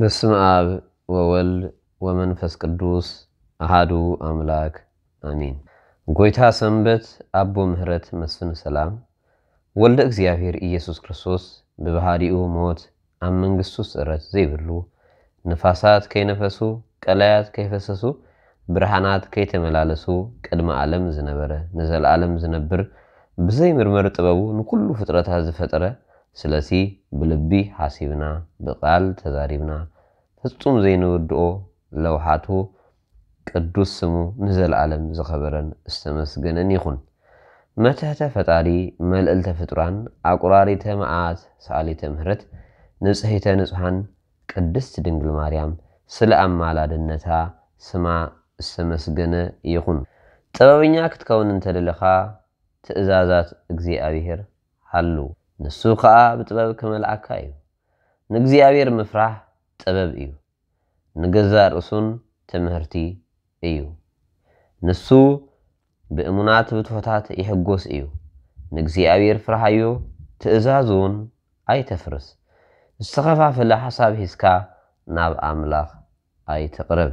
በስመ ኣብ ወወልድ ወመንፈስ ቅዱስ ኣሃዱ ኣምላክ ኣሚን። ጎይታ ሰንበት፣ ኣቦ ምህረት፣ መስፍን ሰላም፣ ወልደ እግዚኣብሔር ኢየሱስ ክርስቶስ ብባህሪኡ ሞት ኣብ መንግስቱ ስዕረት ዘይብሉ፣ ንፋሳት ከይነፈሱ፣ ቀላያት ከይፈሰሱ፣ ብርሃናት ከይተመላለሱ ቅድሚ ዓለም ዝነበረ፣ ንዘለዓለም ዝነብር፣ ብዘይምርመር ጥበቡ ንኩሉ ፍጥረታት ዝፈጠረ፣ ስለዚ ብልቢ ሓሲብና፣ ብቃል ተዛሪብና፣ ፍጹም ዘይንውድኦ ለውሓቱ ቅዱስ ስሙ ንዘለዓለም ዝኸበረን ዝተመስገነን ይኹን። መትሕተ ፈጣሪ፣ መልዕልተ ፍጡራን፣ ኣቁራሪተ መዓት፣ ሰኣሊተ ምህረት፣ ንጽሕተ ንጹሓን ቅድስት ድንግል ማርያም ስለ ኣማላድነታ ስማ ዝተመስገነ ይኹን። ጥበበኛ ክትከውን እንተደለኻ ትእዛዛት እግዚኣብሔር ሓሉ፣ ንሱ ኸኣ ብጥበብ ክመልኣካ እዩ። ንእግዚኣብሔር ምፍራሕ ጥበብ እዩ፣ ንገዛእ ርእሱን ትምህርቲ እዩ። ንሱ ብእሙናት ብትሑታት ይሕጎስ እዩ። ንእግዚኣብሔር ፍርሃዮ፣ ትእዛዙን ኣይተፍርስ። ዝተኸፋፈለ ሓሳብ ሒዝካ ናብ ኣምላኽ ኣይትቕረብ።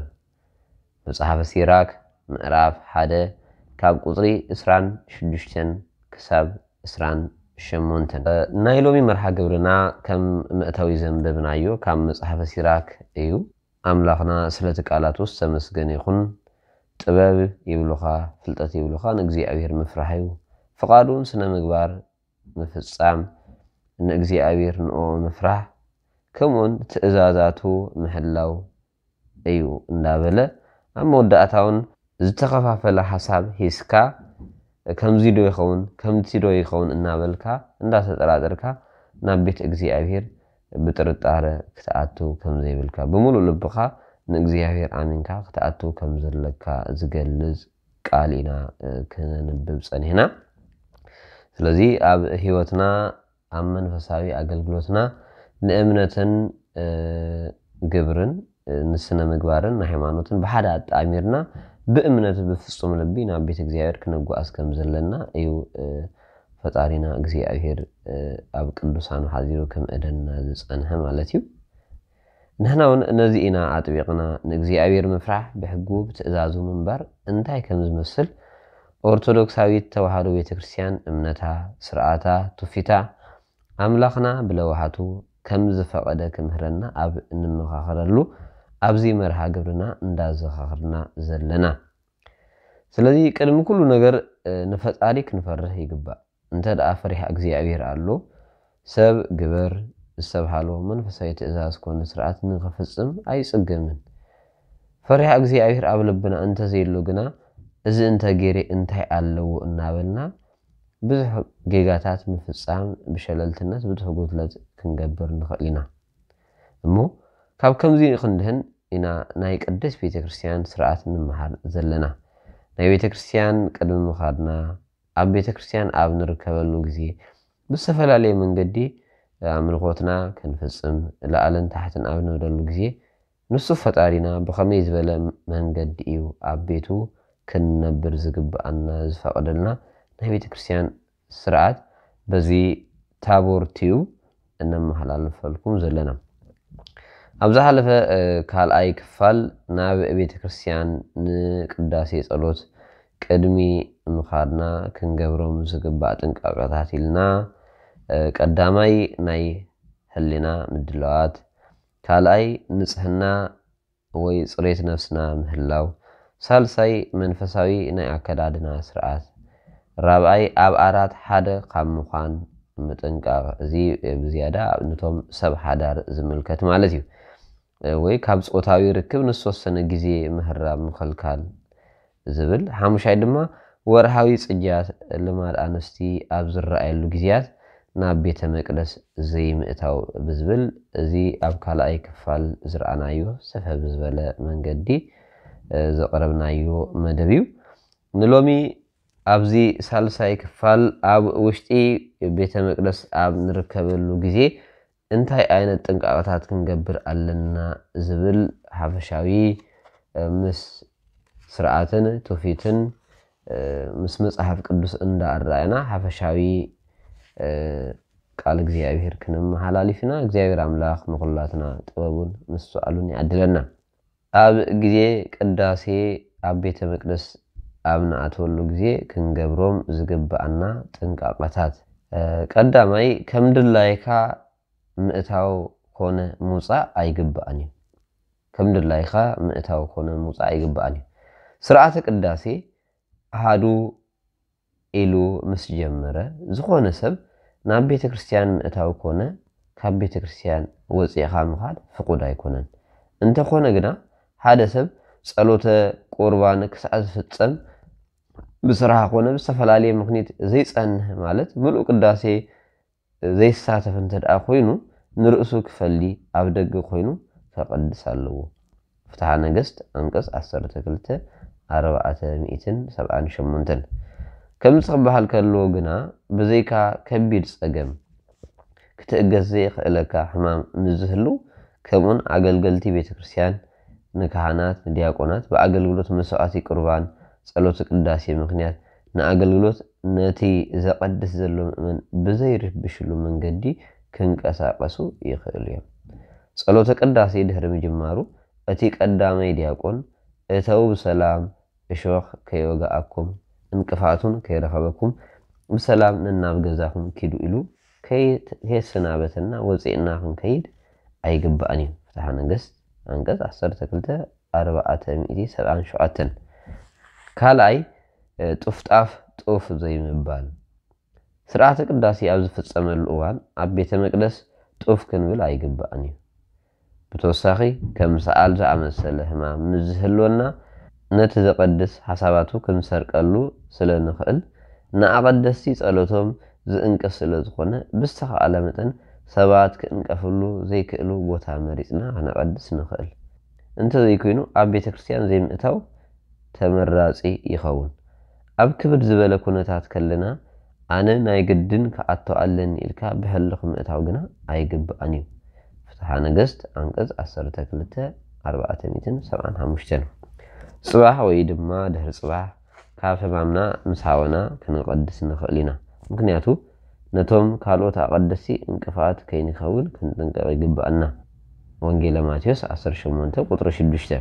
መጽሓፈ ሲራክ ምዕራፍ ሓደ ካብ ቁጽሪ ዕስራን ሽዱሽተን ክሳብ ዕስራን ሸሞንተን። ናይ ሎሚ መርሃ ግብርና ከም መእተዊ ዘንበብናዮ ካብ መጽሓፈ ሲራክ እዩ። ኣምላኽና ስለቲ ቃላቱ ዝተመስገነ ይኹን። ጥበብ ይብሉኻ፣ ፍልጠት ይብሉኻ፣ ንእግዚኣብሔር ምፍራሕ እዩ። ፍቓዱን ስነ ምግባር ምፍጻም፣ ንእግዚኣብሔር ንኦ ምፍራሕ፣ ከምኡውን ትእዛዛቱ ምሕላው እዩ እንዳበለ፣ ኣብ መወዳእታውን ዝተኸፋፈለ ሓሳብ ሒዝካ፣ ከምዚ ዶ ይኸውን፣ ከምቲ ዶ ይኸውን እናበልካ፣ እንዳተጠራጠርካ ናብ ቤት እግዚኣብሔር ብጥርጣረ ክትኣቱ ከም ዘይብልካ፣ ብምሉእ ልብኻ ንእግዚኣብሔር ኣሚንካ ክትኣቱ ከም ዘለካ ዝገልጽ ቃል ኢና፣ እ፣ ክነንብብ ጸኒሕና። ስለዚ ኣብ ህይወትና፣ ኣብ መንፈሳዊ ኣገልግሎትና ንእምነትን፣ እ፣ ግብርን፣ እ፣ ንስነ ምግባርን ንሃይማኖትን ብሓደ ኣጣሚርና ብእምነት ብፍጹም ልቢ ናብ ቤት እግዚኣብሔር ክነጓዓዝ ከም ዘለና እዩ፣ እ፣ ፈጣሪና እግዚኣብሔር፣ እ፣ ኣብ ቅዱሳኑ ሓዚሩ ክምእደና ዝጸንሐ ማለት እዩ። ንሕና እውን ነዚ ኢና ኣጥቢቕና፣ ንእግዚኣብሔር ምፍራሕ ብሕጉ ብትእዛዙ ምንባር እንታይ ከም ዝመስል ኦርቶዶክሳዊት ተዋህዶ ቤተ ክርስቲያን እምነታ፣ ስርዓታ፣ ትውፊታ፣ ኣምላኽና ብለውሃቱ ከም ዝፈቐደ ክምህረና ኣብ እንመኻኸረሉ ኣብዚ መርሃ ግብርና እንዳዘኻኽርና ዘለና። ስለዚ ቅድሚ ኩሉ ነገር፣ እ፣ ንፈጣሪ ክንፈርህ ይግባእ። እንተ ደኣ ፈሪሃ እግዚኣብሔር ኣሎ፣ ሰብ ግበር ዝተብሃሎ መንፈሳዊ ትእዛዝ ኮነ ስርዓት ንኽፍጽም ኣይጽገምን። ፈሪሃ እግዚኣብሔር ኣብ ልብና እንተ ዘየሎ ግና፣ እዚ እንተ ገይረ እንታይ ኣለዎ እናበልና ብዙሕ ጌጋታት ምፍጻም ብሸለልትነት ብዙሕ ጉድለት ክንገብር ንኽእል ኢና። እሞ ካብ ከምዚ ክንድህን ኢና ናይ ቅድስት ቤተ ክርስቲያን ስርዓት ንምሃር ዘለና። ናይ ቤተ ክርስቲያን ቅድሚ ምኻድና፣ ኣብ ቤተ ክርስቲያን ኣብ ንርከበሉ ግዜ፣ ብዝተፈላለየ መንገዲ ኣምልኾትና ክንፍጽም፣ ላዕልን ታሕትን ኣብ ንብለሉ ግዜ፣ ንሱ ፈጣሪና ብኸመይ ዝበለ መንገዲ እዩ ኣብ ቤቱ ክንነብር ዝግብኣና ዝፈቐደልና? ናይ ቤተ ክርስቲያን ስርዓት በዚ ታቦር ቲዩብ እነመሓላልፈልኩም ዘለና። ኣብ ዝሓለፈ፣ እ፣ ካልኣይ ክፋል ናብ ቤተ ክርስቲያን ንቅዳሴ ጸሎት ቅድሚ ምኻድና ክንገብሮም ዝግባእ ጥንቃቄታት ኢልና፣ እ፣ ቀዳማይ ናይ ህሊና ምድላዋት፣ ካልኣይ ንጽህና ወይ ጽሬት ነፍስና ምህላው፣ ሳልሳይ መንፈሳዊ ናይ ኣከዳድና ስርዓት፣ ራብኣይ ኣብ ኣራት ሓደ ካብ ምዃን ምጥንቃቕ። እዚ ብዝያዳ ነቶም ሰብ ሓዳር ዝምልከት ማለት እዩ። ወይ ካብ ጾታዊ ርክብ ንዝተወሰነ ግዜ ምህራም ምኽልካል ዝብል። ሓሙሻይ ድማ ወርሃዊ ጽግያት ልማድ ኣንስቲ ኣብ ዝረኣየሉ ግዜያት ናብ ቤተ መቅደስ ዘይምእታው ብዝብል፣ እዚ ኣብ ካልኣይ ክፋል ዝረኣናዮ ሰፈ ብዝበለ መንገዲ፣ እ፣ ዘቕረብናዮ መደብ እዩ። ንሎሚ ኣብዚ ሳልሳይ ክፋል ኣብ ውሽጢ ቤተ መቅደስ ኣብ ንርከበሉ ግዜ እንታይ ዓይነት ጥንቃቐታት ክንገብር ኣለና ዝብል ሓፈሻዊ፣ እ፣ ምስ ስርዓትን ትውፊትን፣ እ፣ ምስ መጽሓፍ ቅዱስ እንዳኣረኣና ሓፈሻዊ፣ እ፣ ቃል እግዚኣብሔር ክንመሓላልፍ ኢና። እግዚኣብሔር ኣምላኽ ንኹላትና ጥበቡን ምስትውዓሉን ይዓድለና። ኣብ ግዜ ቅዳሴ ኣብ ቤተ መቅደስ ኣብ ንኣትወሉ ግዜ ክንገብሮም ዝግብኣና ጥንቃቐታት፣ እ፣ ቀዳማይ፣ ከም ድላይካ ምእታው ኮነ ምውጻእ ኣይግብኣን እዩ። ከም ድላይካ ምእታው ኮነ ምውጻእ ኣይግብኣን እዩ። ስርዓተ ቅዳሴ ኣሃዱ ኢሉ ምስ ጀመረ፣ ዝኾነ ሰብ ናብ ቤተ ክርስቲያን ምእታው ኮነ ካብ ቤተ ክርስቲያን ወጺእኻ ምኻድ ፍቑድ ኣይኮነን። እንተኾነ ግና፣ ሓደ ሰብ ጸሎተ ቁርባን ክሳዕ ዝፍጸም ብስራሕ ኮነ ብዝተፈላለየ ምኽኒት ዘይጸንህ፣ ማለት ምሉእ ቅዳሴ ዘይሳተፍ እንተ ደኣ ኮይኑ፣ ንርእሱ ክፈሊ ኣብ ደገ ኮይኑ ከቐድስ ኣለዎ። ፍትሓ ነገስት፣ ኣንቀጽ ዓሰርተ ክልተ፣ ኣርባዕተ ሚእትን ሰብዓን ሸሞንተን። ከምዚ ክበሃል ከሎ ግና፣ ብዘይካ ከቢድ ጸገም ክትእገስ ዘይኽእለካ ሕማም ምስ ዝህሉ፣ ከምኡን ኣገልገልቲ ቤተ ክርስቲያን ንካህናት፣ ንዲያቆናት ብኣገልግሎት መስዋዕቲ ቁርባን፣ ጸሎተ ቅዳሴ ምኽንያት ንኣገልግሎት ነቲ ዘቐድስ ዘሎ ምእመን ብዘይርብሽሉ መንገዲ ክንቀሳቐሱ ይኽእሉ እዮም። ጸሎተ ቅዳሴ ድሕሪ ምጅማሩ፣ እቲ ቀዳማይ ዲያቆን፣ "እተው ብሰላም፣ እሾኽ ከይወግኣኩም፣ እንቅፋቱን ከይረኸበኩም፣ ብሰላም ነናብ ገዛኹም ኪዱ" ኢሉ ከይ-፣ ከየሰናበተና ወጺእና ክንከይድ ኣይግባእን እዩ። ፍትሓ ነገስት፣ ኣንቀጽ ዓሰርተ ክልተ፣ ኣርባዕተ ሚእቲ ሰብዓን ሸውዓተን። ካልኣይ፣ እ፣ ጡፍጣፍ ጡፍ ዘይምባል። ስርዓተ ቅዳሴ ኣብ ዝፍጸመሉ እዋን ኣብ ቤተ መቅደስ ጡፍ ክንብል ኣይግባእን እዩ። ብተወሳኺ፣ ከም ሰዓል ዝኣመሰለ ሕማም ምስ ዝህልወና፣ ነቲ ዘቐድስ ሓሳባቱ ክንሰርቀሉ ስለ ንኽእል፣ ንኣቐደስቲ ጸሎቶም ዝእንቅፍ ስለ ዝኾነ፣ ብዝተኻእለ መጠን ሰባት ክእንቀፍሉ ዘይክእሉ ቦታ መሪጽና ክነቐድስ ንኽእል። እንተዘይኮይኑ፣ ኣብ ቤተ ክርስቲያን ዘይምእታው ተመራጺ ይኸውን። ኣብ ክብድ ዝበለ ኩነታት ከለና፣ ኣነ ናይ ግድን ክኣቶ ኣለኒ ኢልካ ብህልኽ ምእታው ግና ኣይግባእን እዩ። ፍትሓ ነገስት፣ ኣንቀጽ ዓሰርተ ክልተ፣ ኣርባዕተ ሚእትን ሰብዓን ሓሙሽተን። ጽባሕ ወይ ድማ ድሕሪ ጽባሕ ካብ ሕማምና ምስ ሃወና ክንቐድስ ንኽእል ኢና። ምኽንያቱ፣ ነቶም ካልኦት ኣቐደስቲ እንቅፋት ከይንኸውን ክንጥንቀቕ ይግብኣና። ወንጌለ ማቴዎስ ዓሰርተ ሸሞንተ ቁጽሪ ሽዱሽተ።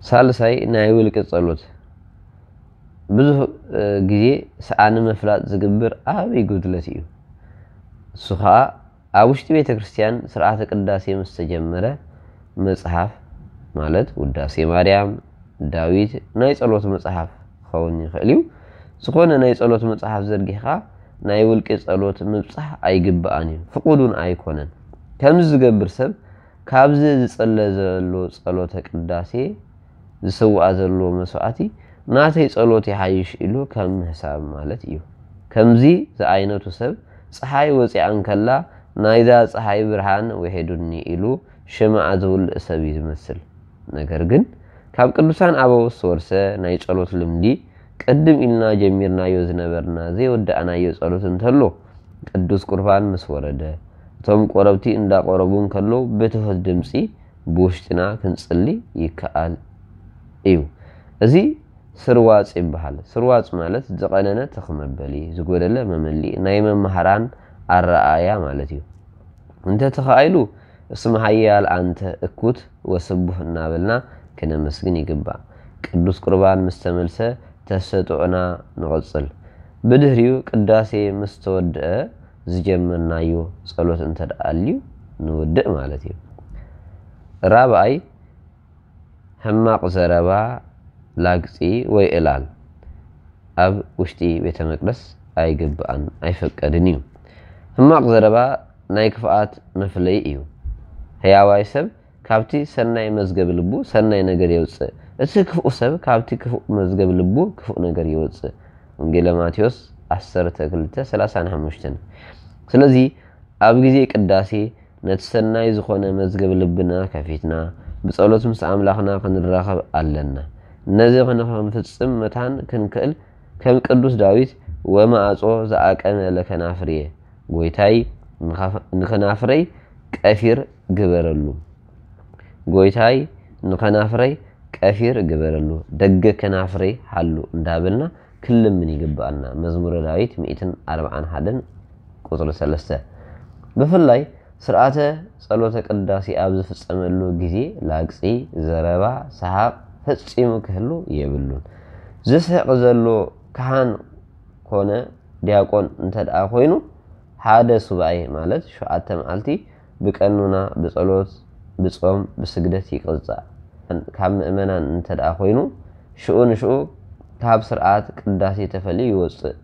ሳልሳይ፣ ናይ ውልቂ ጸሎት። ብዙሕ፣ እ፣ ግዜ ሰኣን ንምፍላጥ ዝግብር ዓብዪ ጉድለት እዩ። እሱ ኸኣ፣ ኣብ ውሽጢ ቤተ ክርስቲያን ስርዓተ ቅዳሴ ምስ ተጀመረ፣ መጽሓፍ፣ ማለት ውዳሴ ማርያም፣ ዳዊት፣ ናይ ጸሎት መጽሓፍ ክኸውን ይኽእል እዩ። ዝኾነ ናይ ጸሎት መጽሓፍ ዘርጊሕካ ናይ ውልቂ ጸሎት ምብጻሕ ኣይግብኣን እዩ፣ ፍቑድ እውን ኣይኮነን። ከምዚ ዝገብር ሰብ፣ ካብዚ ዝጽለ ዘሎ ጸሎተ ቅዳሴ፣ ዝስውኣ ዘሎ መስዋዕቲ፣ ናተይ ጸሎት ይሓይሽ ኢሉ ከም ምሕሳብ ማለት እዩ። ከምዚ ዝዓይነቱ ሰብ፣ ጸሓይ ወጺኣ እንከላ፣ "ናይዛ ጸሓይ ብርሃን ውሒዱኒ" ኢሉ ሽምዓ ዝውልእ ሰብ እዩ ዝመስል። ነገር ግን፣ ካብ ቅዱሳን ኣበው ዝተወርሰ ናይ ጸሎት ልምዲ፣ ቅድም ኢልና ጀሚርናዮ ዝነበርና ዘይወዳእናዮ ጸሎት እንተሎ፣ ቅዱስ ቁርባን ምስ ወረደ፣ እቶም ቆረብቲ እንዳቆረቡ እንከለዉ፣ ብትሑት ድምጺ ብውሽጥና ክንጽሊ ይከኣል እዩ። እዚ ስርዋጽ ይበሃል። ስርዋጽ ማለት ዝቐነነ ትኽ መበሊ፣ ዝጎደለ መመሊኢ፣ ናይ መማህራን ኣረኣእያ ማለት እዩ። እንተተኻኢሉ፣ "እስመ ኃያል ኣንተ እኩት ወስቡሕ" እናበልና ክነመስግን ይግባእ። ቅዱስ ቁርባን ምስ ተመልሰ፣ ተሰጥኦና ንቐጽል። ብድሕሪኡ፣ ቅዳሴ ምስ ተወድአ፣ ዝጀመርናዮ ጸሎት እንተ ደኣ ኣልዩ፣ ንውድእ ማለት እዩ። ራብኣይ፣ ሕማቕ ዘረባ፣ ላግጺ ወይ ዕላል ኣብ ውሽጢ ቤተ መቅደስ ኣይግብኣን፣ ኣይፈቀድን እዩ። ሕማቕ ዘረባ ናይ ክፍኣት መፍለዪ እዩ። ሕያዋይ ሰብ ካብቲ ሰናይ መዝገብ ልቡ ሰናይ ነገር የውጽእ፣ እቲ ክፉእ ሰብ ካብቲ ክፉእ መዝገብ ልቡ ክፉእ ነገር የውጽእ። ወንጌለ ማቴዎስ ዓሰርተ ክልተ ሰላሳን ሓሙሽተን። ስለዚ ኣብ ግዜ ቅዳሴ ነቲ ሰናይ ዝኾነ መዝገብ ልብና ከፊትና ብጸሎት ምስ ኣምላኽና ክንራኸብ ኣለና። ነዚ ክንፍጽም መታን ክንክእል ከም ቅዱስ ዳዊት "ወማዕጾ ዘኣቀመ ለከናፍርየ" ጎይታይ ንኸፍ-፣ ንኸናፍረይ ቀፊር ግበረሉ። ጎይታይ ንኸናፍረይ ቀፊር ግበረሉ፣ ደገ ከናፍረይ ሓሉ እንዳበልና ክንልምን ይግብኣና። መዝሙረ ዳዊት ሚእትን ኣርባዓን ሓደን ቁጽሪ ሰለስተ። ብፍላይ ስርዓተ ጸሎተ ቅዳሴ ኣብ ዝፍጸመሉ ግዜ ላግጺ፣ ዘረባ፣ ሰሓቕ ፈጺሙ ክህሉ የብሉን። ዝስሕቕ ዘሎ ካህን ኮነ ዲያቆን እንተ ደኣ ኮይኑ፣ ሓደ ሱባኤ ማለት ሸውዓተ መዓልቲ ብቀኑና ብጸሎት፣ ብጾም፣ ብስግደት ይቅጻዕ። ካብ ምእመናን እንተ ደኣ ኮይኑ፣ ሽኡ ንሽኡ ካብ ስርዓት ቅዳሴ ተፈልዩ ይወጽእ።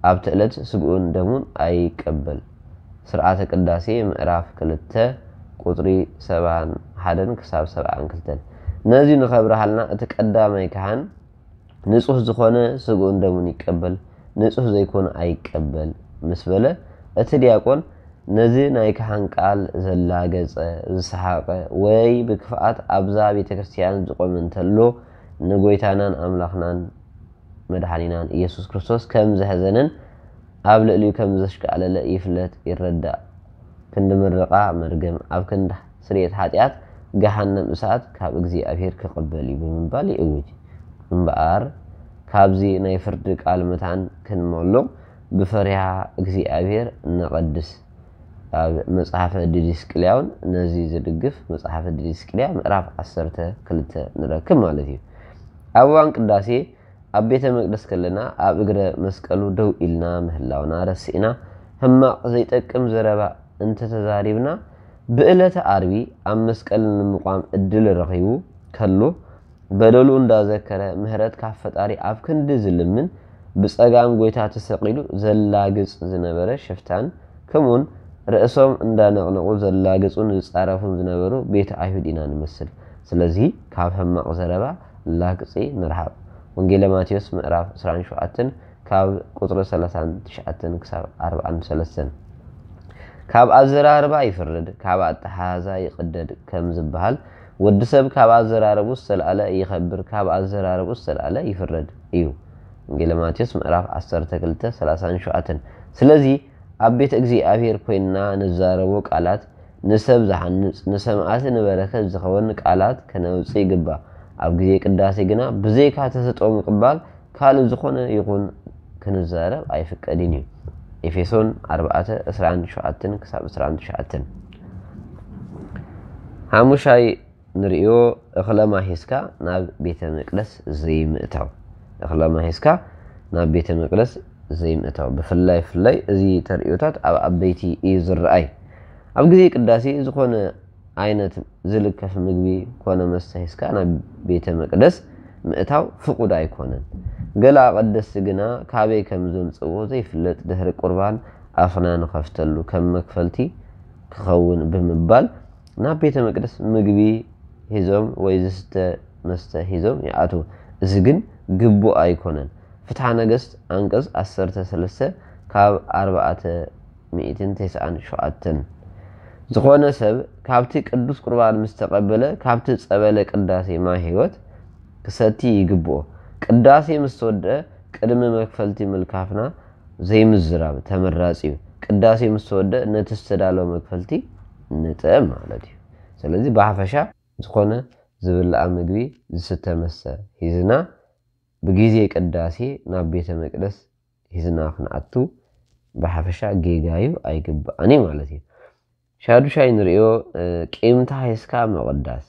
ኣብቲ ዕለት ስግኡን ደሙን ኣይቀበል። ስርዓተ ቅዳሴ ምዕራፍ ክልተ ቁጽሪ ሰብዓን ሓደን ክሳብ ሰብዓን ክልተን። ነዚ ንኸብርሃልና እቲ ቀዳማይ ካህን ንጹህ ዝኾነ ስግኡን ደሙን ይቀበል፣ ንጹህ ዘይኮነ ኣይቀበል ምስ በለ፣ እቲ ዲያቆን ነዚ ናይ ካህን ቃል ዘላገጸ፣ ዝሰሓቐ ወይ ብክፍኣት ኣብዛ ቤተ ክርስቲያን ዝቖመ እንተሎ፣ ንጎይታናን ኣምላኽናን መድሓኒናን ኢየሱስ ክርስቶስ ከም ዘሕዘነን ኣብ ልዕሊኡ ከም ዘሽካዕለለ ይፍለጥ ይረዳእ። ክንዲ ምርቓ መርገም፣ ኣብ ክንዲ ስርየት ሓጢኣት ገሃነም እሳት ካብ እግዚኣብሔር ክቕበል እዩ ብምባል ይእውጅ። እምበኣር ካብዚ ናይ ፍርዲ ቃል መታን ክንመሉቕ ብፈሪሃ እግዚኣብሔር ነቐድስ። ኣብ መጽሓፈ ዲዲስቅልያ እውን ነዚ ዝድግፍ መጽሓፈ ዲዲስቅልያ ምዕራፍ ዓሰርተ ክልተ ንረክብ ማለት እዩ። ኣብ እዋን ቅዳሴ ኣብ ቤተ መቅደስ ከለና ኣብ እግረ መስቀሉ ደው ኢልና ምህላውና ረሲእና ሕማቕ ዘይጠቅም ዘረባ እንተተዛሪብና ብዕለተ ኣርቢ ኣብ መስቀል ንምቋም እድል ረኺቡ ከሎ በደሉ እንዳዘከረ ምህረት ካብ ፈጣሪ ኣብ ክንዲ ዝልምን ብጸጋም ጎይታ ተሰቒሉ ዘላግጽ ዝነበረ ሽፍታን ከምኡውን ርእሶም እንዳነቕነቑ ዘላግጹን ዝጻረፉን ዝነበሩ ቤተ ኣይሁድ ኢና ንመስል። ስለዚ ካብ ሕማቕ ዘረባ ላግጺ ንርሓቕ። ወንጌለ ማቴዎስ ምዕራፍ ዕስራን ሸውዓተን ካብ ቁጽሪ ሰላሳን ትሽዓተን ክሳብ ኣርባዓን ሰለስተን። ካብ ኣዘራርባ ይፍረድ፣ ካብ ኣተሓዛ ይቕደድ ከም ዝበሃል ወዲ ሰብ ካብ ኣዘራረቡ ዝተልኣለ ይኸብር፣ ካብ ኣዘራረቡ ዝተልኣለ ይፍረድ እዩ። ወንጌለ ማቴዎስ ምዕራፍ ዓሰርተ ክልተ ሰላሳን ሸውዓተን። ስለዚ ኣብ ቤት እግዚኣብሔር ኮይንና ንዛረቦ ቃላት ንሰብ ዝሓንጽ፣ ንሰማዕቲ ንበረከት ዝኸውን ቃላት ከነውጽእ ይግባእ። ኣብ ግዜ ቅዳሴ ግና ብዘይካ ተሰጥኦ ምቕባል ካልእ ዝኾነ ይኹን ክንዛረብ ኣይፍቀድን እዩ። ኤፌሶን ኣርባዕተ ዕስራን ሸውዓተን ክሳብ ዕስራን ትሽዓተን። ሓሙሻይ ንርእዮ እኽለ ማሂዝካ ናብ ቤተ መቅደስ ዘይምእታው። እኽለ ማሂዝካ ናብ ቤተ መቅደስ ዘይምእታው። ብፍላይ፣ ብፍላይ እዚ ተርእዮታት ኣብ ዓበይቲ እዩ ዝረኣይ። ኣብ ግዜ ቅዳሴ ዝኾነ ዓይነት ዝልከፍ ምግቢ ኮነ መስተ ሒዝካ ናብ ቤተ መቅደስ ምእታው ፍቑድ ኣይኮነን። ገለ ኣቐደስቲ ግና ካበይ ከም ዘምጽእዎ ዘይፍለጥ ድሕሪ ቁርባን ኣፍና ንኸፍተሉ ከም መክፈልቲ ክኸውን ብምባል ናብ ቤተ መቅደስ ምግቢ ሒዞም ወይ ዝስተ መስተ ሒዞም ይኣትዉ። እዚ ግን ግቡእ ኣይኮነን። ፍትሓ ነገስት ኣንቀጽ ዓሰርተ ሰለስተ ካብ ኣርባዕተ ሚእትን ተስዓን ሸውዓተን። ዝኾነ ሰብ ካብቲ ቅዱስ ቁርባን ምስ ተቐበለ ካብቲ ጸበለ ቅዳሴ ማይ ሕይወት ክሰቲ ይግብኦ። ቅዳሴ ምስ ተወድአ ቅድሚ መክፈልቲ ምልካፍና ዘይምዝራብ ተመራጺ እዩ። ቅዳሴ ምስ ተወድአ ነቲ ዝተዳለወ መክፈልቲ ንጥዕም ማለት እዩ። ስለዚ ብሓፈሻ ዝኾነ ዝብላዕ ምግቢ፣ ዝስተ መስተ ሒዝና ብግዜ ቅዳሴ ናብ ቤተ መቅደስ ሒዝና ክንኣቱ ብሓፈሻ ጌጋ እዩ፣ ኣይግባእን እዩ ማለት እዩ። ሻዱሻይ ንርእዮ፣ እ፣ ቂምታ ሒዝካ ምቕዳስ።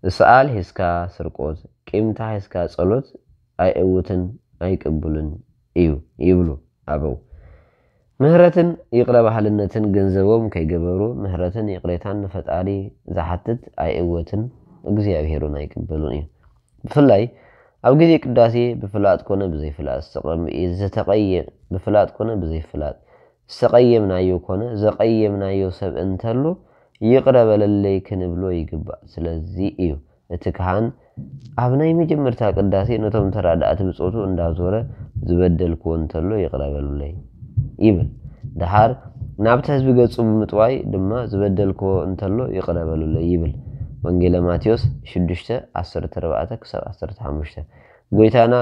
ስኣል ሒዝካ ስርቆት፣ ቂምታ ሒዝካ ጸሎት ኣይእውትን ኣይቅቡልን እዩ ይብሉ ኣበው። ምህረትን ይቕረ ባሃልነትን ገንዘቦም ከይገበሩ ምህረትን ይቕሬታን ንፈጣሪ ዝሓትት ኣይእወትን እግዚኣብሔር እውን ኣይቅበሉን እዩ። ብፍላይ ኣብ ግዜ ቅዳሴ ብፍላጥ ኮነ ብዘይፍላጥ ዝተቐም-፣ ዝተቐየ-፣ ብፍላጥ ኮነ ብዘይፍላጥ ዝተቐየምናዮ ኮነ ዘቐየምናዮ ሰብ እንተሎ ይቕረ በለለይ ክንብሎ ይግባእ። ስለዚ እዩ እቲ ካህን ኣብ ናይ መጀመርታ ቅዳሴ ነቶም ተራዳእቲ ብጾቱ እንዳዞረ ዝበደልክዎ እንተሎ ይቕረ በሉለይ ይብል። ደሓር ናብቲ ህዝቢ ገጹ ብምጥዋይ ድማ ዝበደልክዎ እንተሎ ይቕረ በሉለይ ይብል። ወንጌለ ማቴዎስ ሽዱሽተ ዓሰርተ ኣርባዕተ ክሳብ ዓሰርተ ሓሙሽተ። ጎይታና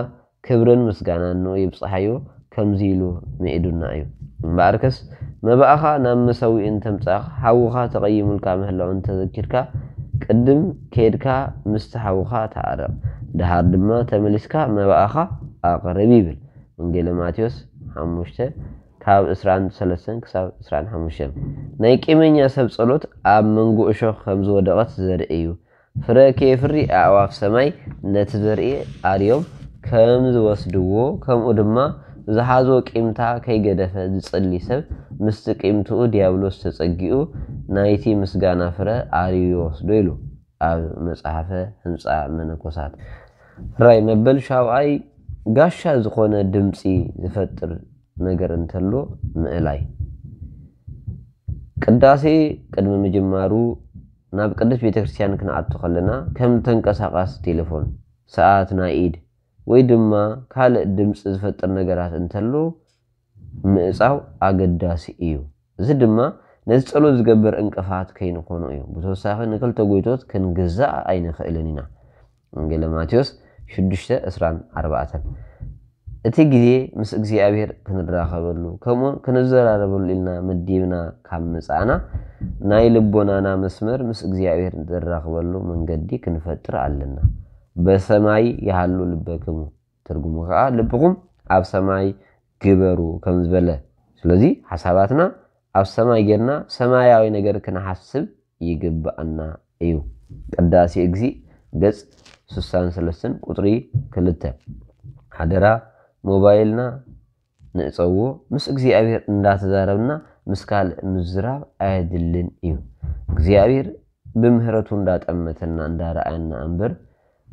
ክብርን ምስጋናን ንኡ ይብጽሓዮ፣ ከምዚ ኢሉ ምዒዱና እዩ። እምበኣርከስ፣ መባእኻ ናብ መሰውኢ እንተምጻእካ፣ ሓውኻ ተቐይሙልካ ምህላው እንተዘኪርካ፣ ቅድም ኬድካ ምስቲ ሓውኻ ተዓረቕ። ደሓር ድማ ተመሊስካ መባእኻ ኣቕርብ ይብል። ወንጌለ ማቴዎስ ሓሙሽተ ካብ ዕስራን ሰለስተን ክሳብ ዕስራን ሓሙሽተን። ናይ ቂመኛ ሰብ ጸሎት ኣብ መንጎ እሾኽ ከም ዝወደቐት ዘርኢ እዩ። ፍረ ከየፍሪ ኣዕዋፍ ሰማይ ነቲ ዘርኢ ኣርዮም ከም ዝወስድዎ፣ ከምኡ ድማ ዝሓዞ ቂምታ ከይገደፈ ዝጽሊ ሰብ ምስቲ ቂምትኡ ዲያብሎስ ተጸጊኡ ናይቲ ምስጋና ፍረ ኣርዩ ይወስዶ ኢሉ ኣብ መጽሓፈ ህንጻ መነኮሳት። ራይ መበል ሻውዓይ ጋሻ ዝኾነ ድምፂ ዝፈጥር ነገር እንተሎ ምእላይ። ቅዳሴ ቅድሚ ምጅማሩ ናብ ቅድስት ቤተክርስትያን ክንኣቱ ከለና ከም ተንቀሳቃሲ ቴሌፎን፣ ሰዓት ናይ ኢድ ወይ ድማ ካልእ ድምፂ ዝፈጥር ነገራት እንተሎ ምእጻው ኣገዳሲ እዩ። እዚ ድማ ነቲ ጸሎት ዝገብር እንቅፋት ከይንኾኖ እዩ። ብተወሳኺ ንክልተ ጎይቶት ክንግዛእ ኣይንኽእልን ኢና። ወንጌለ ማቴዎስ ሽዱሽተ ዕስራን ኣርባዕተን። እቲ ግዜ ምስ እግዚኣብሔር ክንራኸበሉ ከምኡውን ክንዘራረበሉ ኢልና መዲብና ካብ መጻእና፣ ናይ ልቦናና መስመር ምስ እግዚኣብሔር ንራኸበሉ መንገዲ ክንፈጥር ኣለና። በሰማይ ይሃሉ ልበክሙ፣ ትርጉሙ ከዓ ልብኹም ኣብ ሰማይ ግበሩ ከም ዝበለ። ስለዚ ሓሳባትና ኣብ ሰማይ ጌርና ሰማያዊ ነገር ክንሓስብ ይግብኣና እዩ። ቅዳሴ እግዚእ ገጽ ስሳን ሰለስተን ቁጽሪ ክልተ። ሓደራ ሞባይልና ንእጸዎ፣ ምስ እግዚኣብሔር እንዳተዛረብና ምስ ካልእ ምዝራብ ኣየድልን እዩ። እግዚኣብሔር ብምህረቱ እንዳጠመተና እንዳረኣየና እምበር፣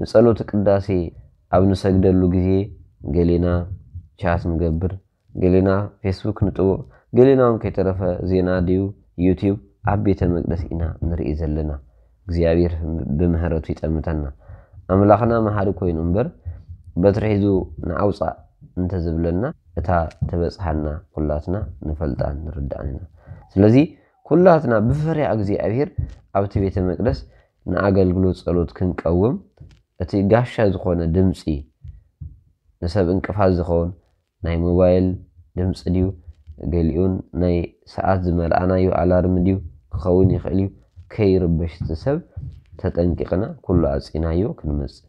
ንጸሎት ቅዳሴ ኣብ ንሰግደሉ ግዜ ገሌና ቻት ንገብር፣ ገሌና ፌስቡክ ንጥውቕ፣ ገሌና እውን ከይተረፈ ዜና ድዩ ዩቲዩብ ኣብ ቤተ መቅደስ ኢና ንርኢ ዘለና። እግዚኣብሔር ብምህረቱ ይጠምተና። ኣምላኽና መሃሪ ኮይኑ እምበር በትሪ ሒዙ ንዓውፃእ እንተዝብለና እታ ትበፅሓና ኩላትና ንፈልጣን ንርዳእን ኢና። ስለዚ ኩላትና ብፈሪያ እግዚኣብሔር ኣብቲ ቤተ መቅደስ ንኣገልግሎት ጸሎት ክንቀውም እቲ ጋሻ ዝኾነ ድምፂ ንሰብ እንቅፋት ዝኸውን ናይ ሞባይል ድምፂ ድዩ፣ ገሊኡን ናይ ሰዓት ዝመልኣናዮ ኣላርም ድዩ ክኸውን ይኽእል እዩ። ከይርበሽ እቲ ሰብ ተጠንቂቕና ኩሉ ኣፂናዮ ክንመፅእ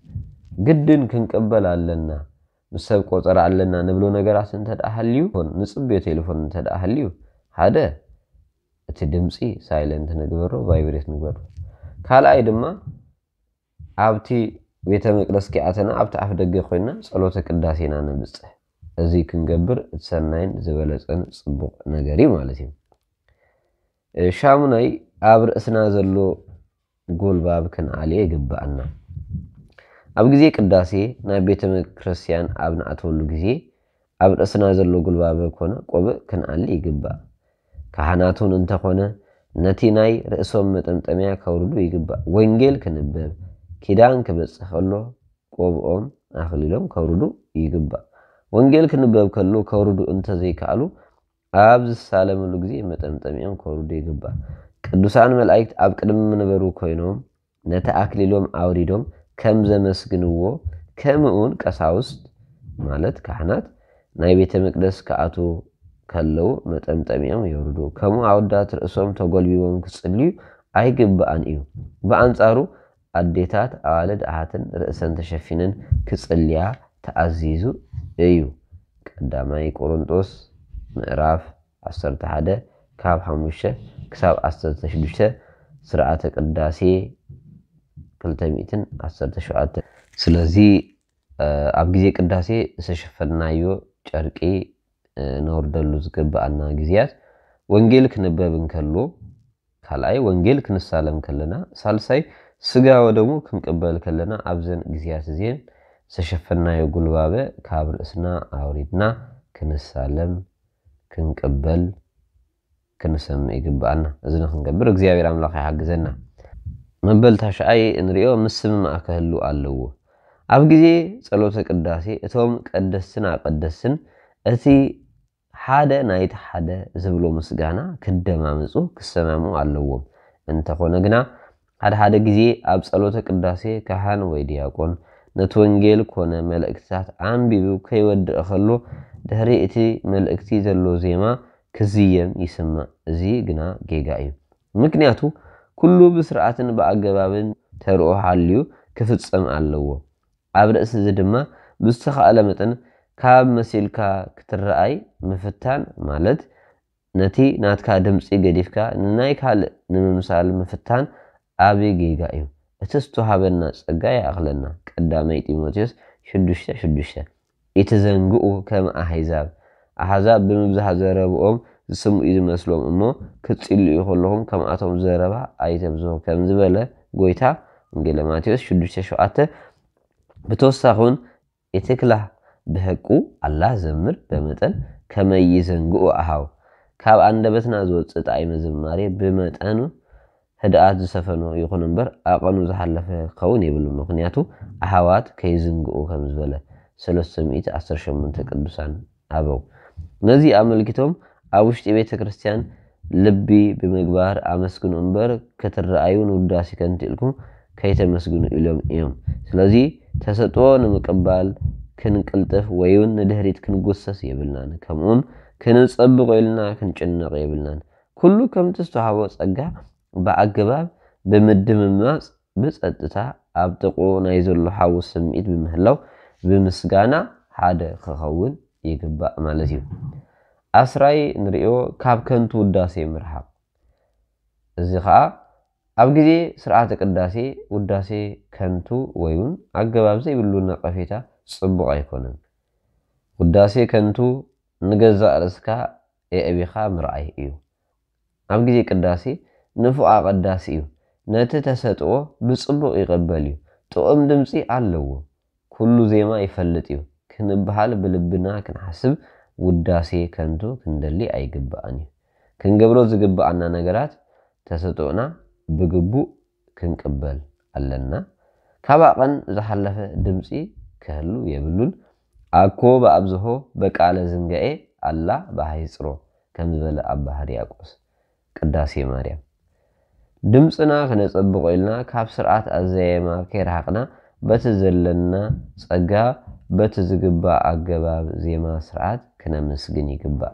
ግድን ክንቅበል ኣለና። ምስ ሰብ ቆፀራ ኣለና ንብሎ ነገራት እንተ ደኣ ሃልዩ፣ ንፅብዮ ቴሌፎን እንተ ደኣ ሃልዩ፣ ሓደ እቲ ድምፂ ሳይለንት ንግበሮ፣ ቫይብሬት ንግበሮ። ካልኣይ ድማ ኣብቲ ቤተ መቅደስ ኪኣተና ኣብቲ ኣፍ ደገ ኮይና ጸሎተ ቅዳሴና ነብጽሕ። እዚ ክንገብር እቲ ሰናይን ዝበለጸን ጽቡቕ ነገር እዩ ማለት እዩ። እ፣ ሻሙናይ ኣብ ርእስና ዘሎ ጎልባብ ክንኣልዮ ይግብኣና። ኣብ ግዜ ቅዳሴ ናብ ቤተ ክርስቲያን ኣብ ንኣትወሉ ግዜ ኣብ ርእስና ዘሎ ጉልባበ ኮነ ቆብእ ክንኣሊ ይግባእ። ካህናት እውን እንተኾነ ነቲ ናይ ርእሶም መጠምጠምያ ከውርዱ ይግባእ። ወንጌል ክንበብ፣ ኪዳን ክበጽሕ ከሎ ቆብኦም ኣኽሊሎም ከውርዱ ይግባእ። ወንጌል ክንበብ ከሎ ከውርዱ እንተዘይከኣሉ ኣብ ዝሳለምሉ ግዜ መጠምጠሚኦም ከውርዱ ይግባእ። ቅዱሳን መላእክት ኣብ ቅድሚ መንበሩ ኮይኖም ነቲ ኣክሊሎም ኣውሪዶም ከም ዘመስግንዎ፣ ከምኡውን ቀሳውስት ማለት ካህናት ናይ ቤተ መቅደስ ክኣትዉ ከለዉ መጠምጠሚኦም የውርዱ። ከምኡ ኣወዳት ርእሶም ተጎልቢቦም ክጽልዩ ኣይግብኣን እዩ። ብኣንጻሩ ኣዴታት፣ ኣዋልድ፣ ኣሓትን ርእሰን ተሸፊነን ክጽልያ ተኣዚዙ እዩ። ቀዳማይ ቆሮንጦስ ምዕራፍ ዓሰርተ ሓደ ካብ ሓሙሽተ ክሳብ ዓሰርተ ሽዱሽተ፣ ስርዓተ ቅዳሴ ክልተ ሚእትን ዓሰርተ ሸውዓተ። ስለዚ፣ እ፣ ኣብ ግዜ ቅዳሴ ዝተሸፈንናዮ ጨርቂ፣ እ፣ ነውርደሉ ዝግብኣና ግዜያት፣ ወንጌል ክንበብ እንከሎ፣ ካልኣይ ወንጌል ክንሳለም ከለና፣ ሳልሳይ ስጋ ወደሙ ክንቅበል ከለና፣ ኣብዘን ግዜያት እዚኤን ዝተሸፈንናዮ ጉልባበ ካብ ርእስና ኣውሪድና ክንሳለም፣ ክንቅበል፣ ክንሰምዕ ይግብኣና። እዚ ንክንገብር እግዚኣብሔር ኣምላኽ ይሓግዘና። መበል ታሽዓይ እንሪኦ ምስምማዕ ክህሉ ኣለዎ። ኣብ ግዜ ጸሎተ ቅዳሴ እቶም ቀደስትን ኣቀደስትን እቲ ሓደ ናይቲ ሓደ ዝብሎ ምስጋና ክደማምጹ ክሰማምዑ ኣለዎም። እንተኾነ ግና ሓደ ሓደ ግዜ ኣብ ጸሎተ ቅዳሴ ካህን ወይ ዲያቆን ነቲ ወንጌል ኮነ መልእክትታት ኣንቢቡ ከይወድእ ከሎ ድሕሪ እቲ መልእክቲ ዘሎ ዜማ ክዝየም ይስማዕ። እዚ ግና ጌጋ እዩ። ምክንያቱ ኩሉ ብስርዓትን ብኣገባብን ተርኦ ሓልዩ ክፍጸም ኣለዎ። ኣብ ርእሲ እዚ ድማ ብዝተኻእለ መጠን ካብ መሲልካ ክትረኣይ ምፍታን ማለት ነቲ ናትካ ድምጺ ገዲፍካ ንናይ ካልእ ንምምሳል ምፍታን ዓቢ ጌጋ እዩ። እቲ ዝተዋህበና ጸጋ ይኣኽለና። ቀዳማይ ጢሞቴዎስ ሽዱሽተ ሽዱሽተ። ኢትዘንግኡ ከም ኣህዛብ። ኣህዛብ ብምብዛሕ ዘረብኦም ዝስምኡ ዝመስሎም እሞ ክትጽልዩ ከለኹም ከምኣቶም ዘረባ ኣይተብዝሑ ከም ዝበለ ጎይታ ወንጌለ ማቴዎስ ሽዱሽተ ሸውዓተ። ብተወሳኺ እውን ኢትክላህ ብሐቁ ኣላህ ዘምር በመጠን ከመይ ይዘንግኡ ኣሃው። ካብ ኣንደበትና ዝወጽእ ጣዕመ ዝማሬ ብመጠኑ ህድኣት ዝሰፈኖ ይኹን እምበር ኣቐኑ ዝሓለፈ ክኸውን የብሉ። ምኽንያቱ ኣሃዋት ከይዝንግኡ ከም ዝበለ ሰለስተ ሚእቲ ዓሰርተ ሸሞንተ ቅዱሳን ኣበው። ነዚ ኣመልኪቶም ኣብ ውሽጢ ቤተ ክርስቲያን ልቢ ብምግባር ኣመስግኑ እምበር ክትረኣዩ ንውዳሴ ከንቱ ኢልኩም ከይተመስግኑ ኢሎም እዮም። ስለዚ ተሰጥኦ ንምቅባል ክንቅልጥፍ ወይ እውን ንድሕሪት ክንጉሰስ የብልናን። ከምኡውን ክንጸብቕ ኢልና ክንጭነቕ የብልናን። ኩሉ ከምቲ ዝተዋህቦ ጸጋ ብኣገባብ ብምድምማጽ ብጸጥታ ኣብ ጥቕኡ ናይ ዘሎ ሓዊ ስምዒት ብምህላው ብምስጋና ሓደ ክኸውን ይግባእ ማለት እዩ። ኣስራይ ንርእዮ ካብ ከንቱ ውዳሴ ምርሓቕ። እዚ ኸኣ ኣብ ግዜ ስርዓተ ቅዳሴ ውዳሴ ከንቱ ወይ እውን ኣገባብ ዘይብሉ ነቐፌታ ጽቡቕ ኣይኮነን። ውዳሴ ከንቱ ንገዛእ ርእስካ የዕቢኻ ምርኣይ እዩ። ኣብ ግዜ ቅዳሴ ንፉዕ ኣቐዳሲ እዩ። ነቲ ተሰጥኦ ብጽቡቕ ይቕበል እዩ። ጥዑም ድምጺ ኣለዎ። ኩሉ ዜማ ይፈልጥ እዩ ክንበሃል ብልብና ክንሓስብ ውዳሴ ከንቱ ክንደሊ ኣይግባእን እዩ። ክንገብሮ ዝግባኣና ነገራት ተሰጥኦና ብግቡእ ክንቅበል ኣለና። ካብ ኣቐን ዝሓለፈ ድምጺ ክህሉ የብሉን። ኣኮ ብኣብዝሆ በቃለ ዝንጋኤ ኣላ ብሃይጽሮ ከም ዝበለ ኣባ ሕርያቆስ ቅዳሴ ማርያም። ድምጽና ክነጸብቆ ኢልና ካብ ስርዓት ኣዘያየማ ከይረሓቕና በቲ ዘለና ጸጋ በቲ ዝግባእ ኣገባብ ዜማ ስርዓት ክነመስግን ይግባእ።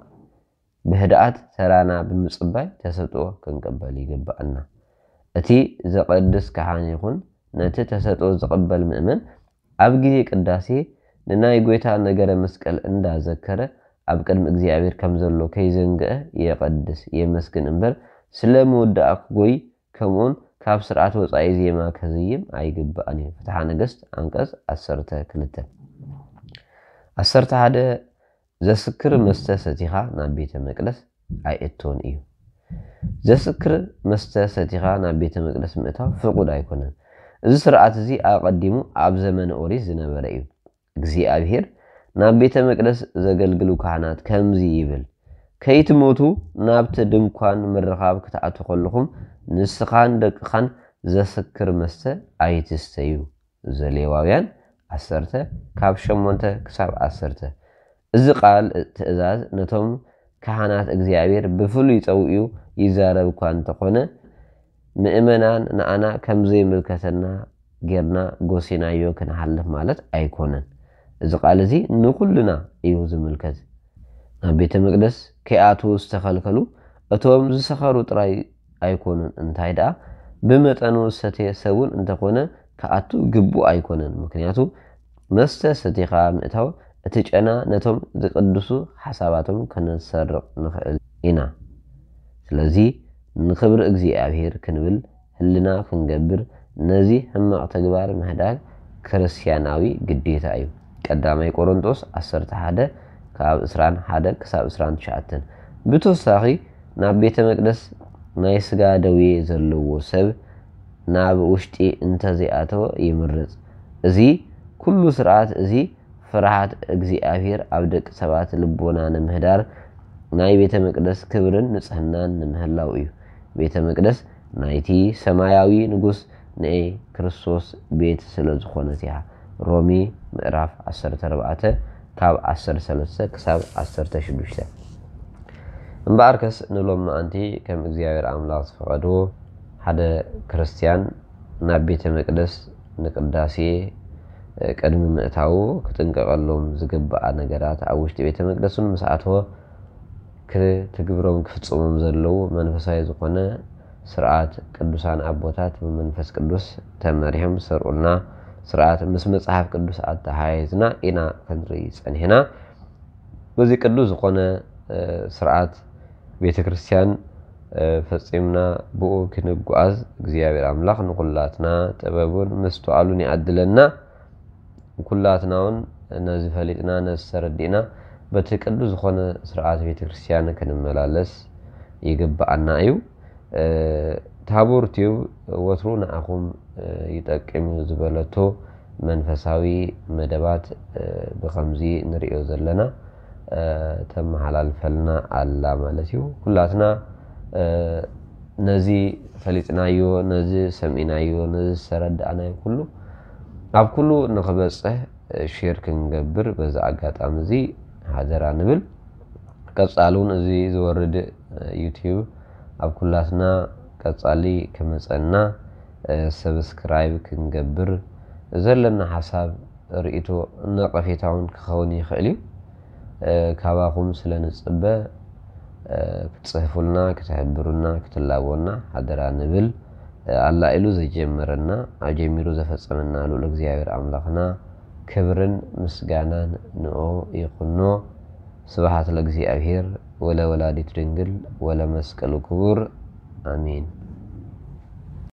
ብህድኣት ተራና ብምጽባይ ተሰጥኦ ክንቅበል ይግባኣና። እቲ ዘቐድስ ካህን ይኹን ነቲ ተሰጥኦ ዝቕበል ምእመን ኣብ ግዜ ቅዳሴ ንናይ ጐይታ ነገረ መስቀል እንዳዘከረ ኣብ ቅድሚ እግዚኣብሔር ከም ዘሎ ከይዘንግዐ የቐድስ፣ የመስግን እምበር ስለ ምውዳእ ክጎይ ከምኡውን ካብ ስርዓት ወጻኢ ዜማ ከዝይም ኣይግባእን እዩ። ፍትሓ ነገስት ዓንቀጽ ዓሰርተ ክልተ። ዓሰርተ ሓደ ዘስክር መስተ ሰቲኻ ናብ ቤተ መቅደስ ኣይእቶን እዩ። ዘስክር መስተ ሰቲኻ ናብ ቤተ መቅደስ ምእታው ፍቑድ ኣይኮነን። እዚ ስርዓት እዚ ኣቐዲሙ ኣብ ዘመነ ኦሪት ዝነበረ እዩ። እግዚኣብሔር ናብ ቤተ መቅደስ ዘገልግሉ ካህናት ከምዚ ይብል፣ ከይትሞቱ ናብቲ ድንኳን ምርኻብ ክትኣቱ ከለኹም ንስኻን ደቅኻን ዘስክር መስተ ኣይትስተዩ። ዘሌዋውያን ዓሰርተ ካብ ሸሞንተ ክሳብ ዓሰርተ። እዚ ቃል ትእዛዝ ነቶም ካህናት እግዚኣብሔር ብፍሉይ ጸዊዑ ይዛረብ እኳ እንተኾነ ምእመናን ንኣና ከም ዘይምልከተና ጌርና ጎሲናዮ ክንሓልፍ ማለት ኣይኮነን። እዚ ቃል እዚ ንኹልና እዩ ዝምልከት። ናብ ቤተ መቅደስ ከይኣትዉ ዝተኸልከሉ እቶም ዝሰኸሩ ጥራይ ኣይኮኑን፣ እንታይ ደኣ ብመጠኑ ዝሰትየ ሰብ እውን እንተኾነ ክኣቱ ግቡእ ኣይኮነን። ምክንያቱ መስተ ሰቲኻ ምእታው እቲ ጨና ነቶም ዝቅድሱ ሓሳባቶም ከነሰርቕ ንኽእል ኢና። ስለዚ ንኽብሪ እግዚኣብሔር ክንብል ህልና ክንገብር ነዚ ሕማቕ ተግባር ምህዳግ ክርስትያናዊ ግዴታ እዩ። ቀዳማይ ቆሮንጦስ ዓሰርተ ሓደ ካብ ዕስራን ሓደ ክሳብ ዕስራን ትሽዓተን። ብተወሳኺ ናብ ቤተ መቅደስ ናይ ስጋ ደዌ ዘለዎ ሰብ ናብ ውሽጢ እንተዘይኣተወ ይምረጽ። እዚ ኩሉ ስርዓት እዚ ፍርሃት እግዚኣብሔር ኣብ ደቂ ሰባት ልቦና ንምህዳር ናይ ቤተ መቅደስ ክብርን ንጽህናን ንምህላው እዩ። ቤተ መቅደስ ናይቲ ሰማያዊ ንጉስ ናይ ክርስቶስ ቤት ስለ ዝኾነት እያ። ሮሜ ምዕራፍ ዓሰርተ ኣርባዕተ ካብ ዓሰርተ ሰለስተ ክሳብ ዓሰርተ ሽዱሽተ። እምበኣርከስ ንሎሚ መዓንቲ ከም እግዚኣብሔር ኣምላኽ ዝፈቐዶ ሓደ ክርስትያን ናብ ቤተ መቅደስ ንቅዳሴ ቅድሚ ምእታዉ ክጥንቀቐሎም ዝግባኣ ነገራት ኣብ ውሽጢ ቤተ መቅደስ እውን ምስ ኣተወ ክትግብሮም ክፍጽሞም ዘለዉ መንፈሳዊ ዝኾነ ስርዓት ቅዱሳን ኣቦታት ብመንፈስ ቅዱስ ተመሪሖም ዝሰርዑልና ስርዓት ምስ መጽሓፍ ቅዱስ ኣተሓሒዝና ኢና ክንርኢ ጸኒሕና። በዚ ቅዱስ ዝኾነ ስርዓት ቤተ ክርስቲያን ፈጺምና ብኡ ክንጓዓዝ እግዚኣብሔር ኣምላኽ ንኹላትና ጥበቡን ምስትዋሉን ይኣድለና። ኩላትና እውን ነዚ ፈሊጥና ነዚ ተረዲእና በቲ ቅዱስ ዝኾነ ስርዓት ቤተ ክርስቲያን ክንመላለስ ይግብኣና እዩ። ታቦር ቲዩብ ወትሩ ንኣኹም ይጠቅም እዩ ዝበለቶ መንፈሳዊ መደባት ብኸምዚ ንሪኦ ዘለና ተመሓላልፈልና ኣላ ማለት እዩ። ኩላትና ነዚ ፈሊጥናዮ፣ ነዚ ሰሚዕናዮ፣ ነዚ ዝተረዳእናዮ ኩሉ ኣብ ኩሉ ንኽበፅሕ ሼር ክንገብር በዚ ኣጋጣሚ እዚ ሓደራ ንብል። ቀፃሊ እውን እዚ ዝወርድ ዩቲዩብ ኣብ ኩላትና ቀፃሊ ክመፀና ሰብስክራይብ ክንገብር ዘለና ሓሳብ ርእይቶ ነቐፌታ እውን ክኸውን ይኽእል እዩ። ካባኹም ስለ ንፅበ ክትፅህፉልና፣ ክትሕብሩና፣ ክትላቦና ሓደራ ንብል። ኣላ ኢሉ ዘጀመረና ኣጀሚሩ ዘፈፀመና ልኡል እግዚኣብሔር ኣምላኽና ክብርን ምስጋናን ንኦ ይኹኖ። ስብሓት ለእግዚኣብሔር ወለ ወላዲት ድንግል ወለ መስቀሉ ክቡር ኣሜን።